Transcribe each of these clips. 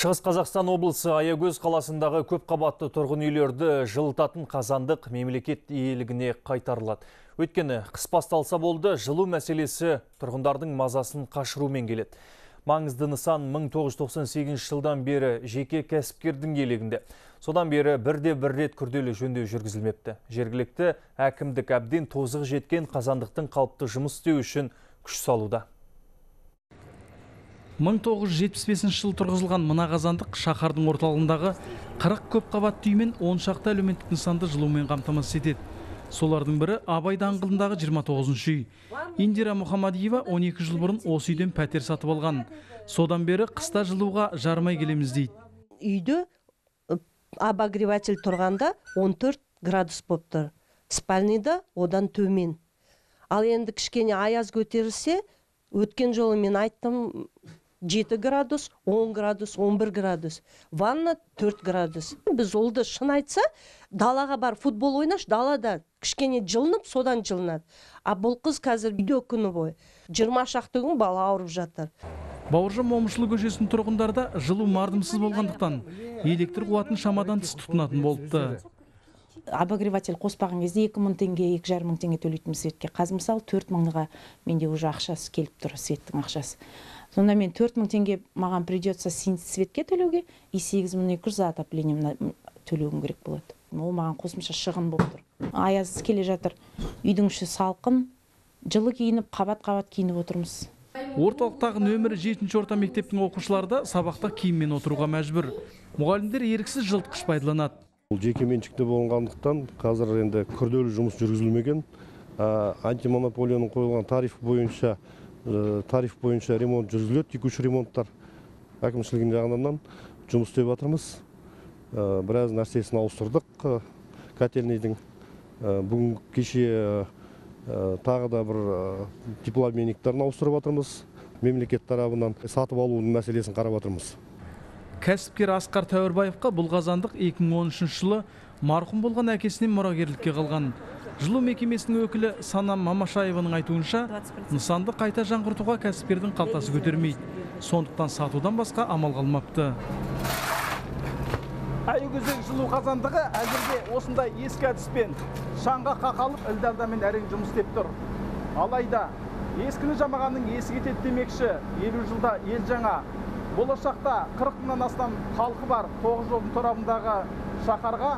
Шығыс Қазақстан облысы Аягөз қаласындағы көп қабатты тұрғын үйлерді жылытатын қазандық мемлекет иелігіне қайтарылады. Өйткені қыс басталса болды, жылу мәселесі тұрғындардың мазасын қашырумен келеді. Маңызды нысан 1998 жылдан бері жеке кәсіпкердің иелігінде. Содан бері бір рет күрделі жөндеу жүргізілмепті. Жергілікті әкімдік әбден тозығы жеткен қазандықтың қалыпты жұмыс істеу үшін күш салуда. 1975 жыл тұрғызылған мына қазандық шаһардың орталығындағы 40 көп қабатты үй мен 10 шақты әлеуметтік нысанды жылумен қамтамасыз етеді. Солардың бірі Абай даңғылындағы 29-шы үй. Индира Мұхамадиева 12 жыл бұрын осы үйден пәтер сатып алған. Содан бері қыста жылуға жармай келеміз дейді. Үйде обогреватель тұрғанда 14 градус болып тұр. Спальныйда одан төмен. Ал енді кішкене аяз көтерілсе, өткен жолы мен айттым, 7 градус, 10 градус, 11 градус. Ванна 4 градус. Біз олды шын айтса, далаға бар футбол ойнаш, далада кішкене жылынып, содан жылынады. А бұл қыз қазір үйде күні бойы. 20 шақты күн бала ауырып жатыр. Бауыржан Момышұлы көшесінің тұрғындарда жылу мардымсыз болғандықтан электр қуатын шамадан тыс тұтынатын болыпты. Обогреватель қоспаған кезде 2000 теңге, 2500 теңге төлейтін светке. Қазір мысалы 4000-ға менде уже ақшасы келіп тұр, светтің ақшасы. Сонда мен 4000 теңге маған придется светке төлеуге, и 8200 за отопление төлеуім керек болады. Ол маған қосымша шығын болып тұр. Аяз келе жатыр. Үйдің іші салқын, жылы киініп, қабат-қабат киініп отырмыз. Орталықтағы нөмірі 7-ші орта мектептің оқушылары сабақта киіммен отыруға мәжбүр. Мұғалімдер еріксіз жылытқыш пайдаланады. Бұл жеке меншікте болғандықтан қазір енді күрделі жұмыс жүргізілмеген. Антимонополияның қойылған тариф бойынша ремонт жүргізіледі, текуші ремонттар. Әкімшілігінің жағынан жұмыс істеп жатырмыз. Біраз нәрсесін ауыстырдық. Котельныйдың бүгін кеше тағы да бір теплообменниктарын ауыстырып жатырмыз. Мемлекет тарабынан сатып алудың мәселесін қарап жатырмыз. Кәсіпкер Асқар Тәуірбаевқа бұл қазандық 2013 жылы марқұм болған әкесінен мұрагерлікке қалған. Жылу мекемесінің өкілі Санам Мамашаеваның айтуынша, нысанды қайта жаңғыртуға кәсіпкердің қалтасы көтермейді. Сондықтан сатудан басқа амал қалмапты. Аягөздегі жылу қазандығы әзірге осындай ескі әдіспен шаңға қақалып, ілдалдамен әрең жұмыс істеп тұр. Алайда ескіні жамағанның есі кетеді демекші, 50 жылда ел жаңа. Болашақта 40 мыңнан астам халқы бар 9 жолдың торабындағы шаһарға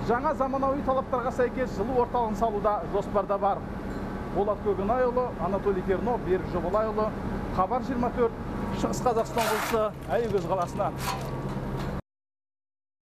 жаңа заманауи талаптарға сәйкес жылу орталығын салуда жоспарда бар. Болат Көкенайұлы, Анатолий Тернов, Берік Жобалайұлы, Хабар 24, Шығыс Қазақстан облысы, Аягөз қаласынан.